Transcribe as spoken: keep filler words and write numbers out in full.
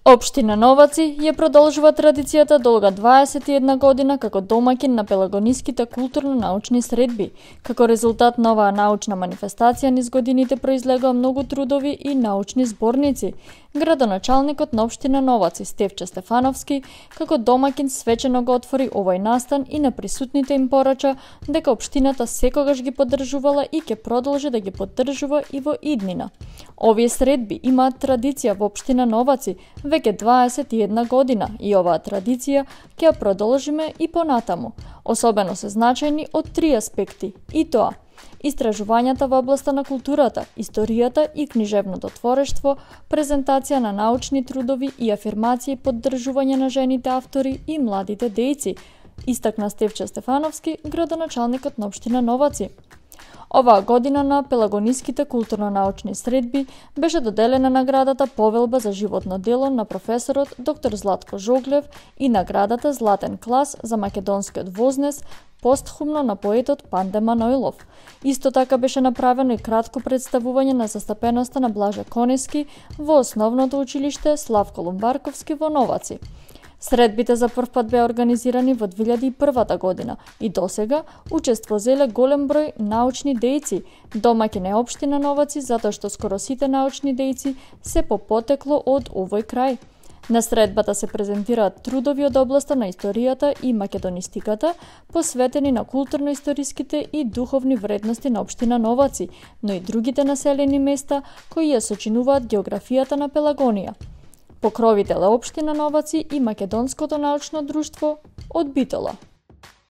Општина Новаци ја продолжува традицијата долга дваесет и една година како домаќин на пелагониските културно-научни средби. Како резултат на оваа научна манифестација низ годините произлегоа многу трудови и научни зборници. Градоначалникот на општина Новаци Стефче Стефановски како домаќин свечено го отвори овој настан и на присутните им порача дека општината секогаш ги поддржувала и ќе продолжи да ги поддржува и во иднина. Овие средби имаат традиција во општина Новаци веќе дваесет и една година и оваа традиција ќе ја продолжиме и понатаму. Особено се значајни од три аспекти, и тоа: истражувањата во областа на културата, историјата и книжевното творештво, презентација на научни трудови и афирмација и поддржување на жените автори и младите дејци, истакна Стефче Стефановски, градоначалникот на општина Новаци. Оваа година на пелагониските културно-научни средби беше доделена наградата Повелба за животно дело на професорот доктор Златко Жоглев и наградата Златен клас за македонскиот вознес постхумно на поетот Панде Манойлов. Исто така беше направено и кратко представување на застапеноста на Блаже Конески во основното училиште Славко Лумбарковски во Новаци. Средбите за прв пат беа организирани во две илјади и прва година и досега учество зеле голем број научни дејци. Домаќин е општина Новаци затоа што скоро сите научни дејци се по потекло од овој крај. На средбата се презентираат трудови од областа на историјата и македонистиката, посветени на културно-историските и духовни вредности на општина Новаци, но и другите населени места кои ја сочинуваат географијата на Пелагонија. Покровител е општина Новаци и Македонското научно друштво од Битола.